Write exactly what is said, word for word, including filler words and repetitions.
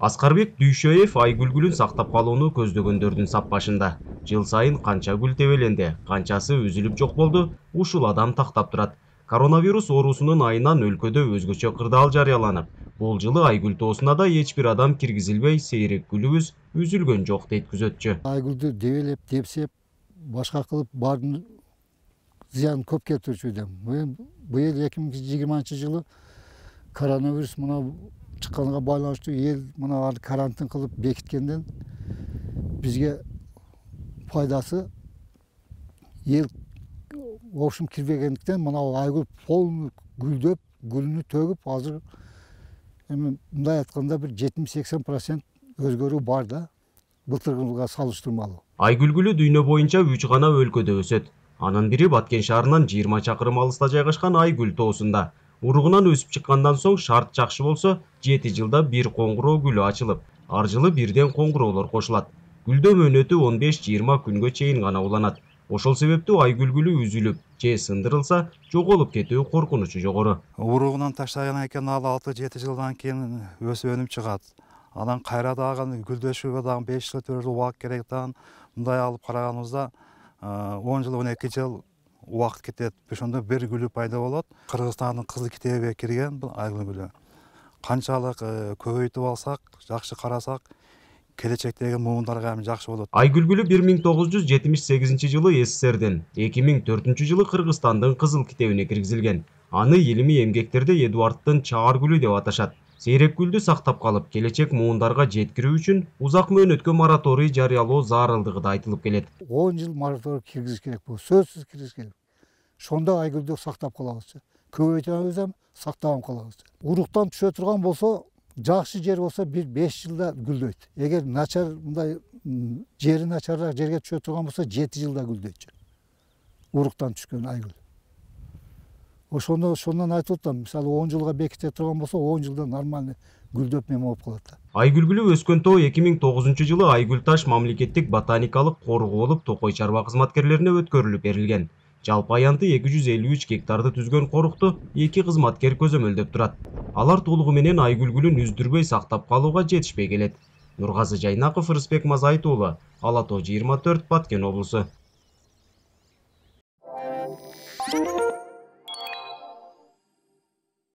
Аскарбек Дүйшөев айгүлгүлүн сактап калууну көздөгөндөрдүн сап башында. Жыл сайын канча гүл тебеленди, канчасы үзүлүп жок болду, ушул адам тактап турат. Коронавирус оорусунун айынан өлкөдө өзгөчө кырдаал жарыяланып, бул жылы айгүл тоосуна да эч бир адам киргизилбей, сейрек гүлүбүз үзүлгөн жок дейт күзөтчү. Айгүлдү дебелеп, депсеп, башка кылып баардын зыянын көп келтирүүчү эдем. Быйыл эки миң жыйырманчы жылы коронавирус мына чыкканга байланыштуу эл мына карантин кылып бекиткенден бизге пайдасы эл ошум кирбегендиктен мына айгүл полный гүлдөп, гүлүнү төгүп, азыр эми мындай айтканда бир жетимиш сексен процент өзгөрүү бар да, былтыркы жылга салыштырмалуу. Айгүл гүлү дүйнө боюнча үч гана өлкөдө өсөт. Анын бири Баткен шаарынан жыйырма чакырым алыста жайгашкан Айгүл тоосунда. Уругунан өсүп чыккандан соң шарт жакшы болсо, жети жылда бир коңгуроо гүлү ачылып, ар жылы бирден коңгуроолор кошулат. Гүлдөө мөөнөтү он беш жыйырма күнгө чейин гана уланат. Ошол себептүү айгүл гүлү үзүлүп же сындырылса, жоголуп кетүү коркунучу жогору. Уругунан таштагандан кийин ал алты жети жылдан кийин өсүп өнүп чыгат. Анан кайра дагы гүлдөшүүгө дагы беш жыл төрт жыл убакыт керек дагы. Мындай алып караганыбызда он жыл он эки жыл убакыт кетет. Ошондо бир гүлү пайда болот. Кыргызстандын кызыл китебине кирген бул айгүл гүлү. Канчалык көбөйтүп алсак, жакшы карасак, келечектеги муундарга эми жакшы болот. Айгүл гүлү бир миң тогуз жүз жетимиш сегизинчи жылы СССРден, эки миң төртүнчү жылы Кыргызстандын кызыл китебине киргизилген. Аны илимий эмгектерде Эдуарддын чаар гүлү деп аташат. Сейрек гүлдү сактап калып, келечек муундарга жеткирүү үчүн узак мөөнөткө мораторий жарыялоо зарылдыгы да айтылып келет. он жыл мораторий киргизиш керек бул, сөзсүз киргизиш керек. Шондо айгүлдү сактап калабыз. Көбөйтөбүз эми, сактап калабыз. Уруктан түшө турган болсо, жакшы жер болсо бир беш жылда гүлдөйт. Эгер начар мындай жери начарыраак жерге түшө турган болсо, жети жылда гүлдөйт. Уруктан түшкөн айгүл. Ошондо ошондон айтып атам, мисалы он жылга беките турган болсо, он жылда нормальный гүлдөп неме болуп калат. Айгүл гүлү өскөн тоо эки миң тогузунчу жылы Айгүл таш мамлекеттик ботаникалык коргоо болуп Токой чарба кызматкерлерине өткөрүлүп берилген. Жалпы аянты эки жүз элүү үч гектарды түзгөн корукту эки кызматкер көзөмөлдөп турат. Алар толугу менен айгүл гүлүн үздүрбөй сактап калууга жетишпей келет. Нургазы Жайнаков, Рысбек Мазайыт уулу, Ала тоо жыйырма төрт, Баткен облусу.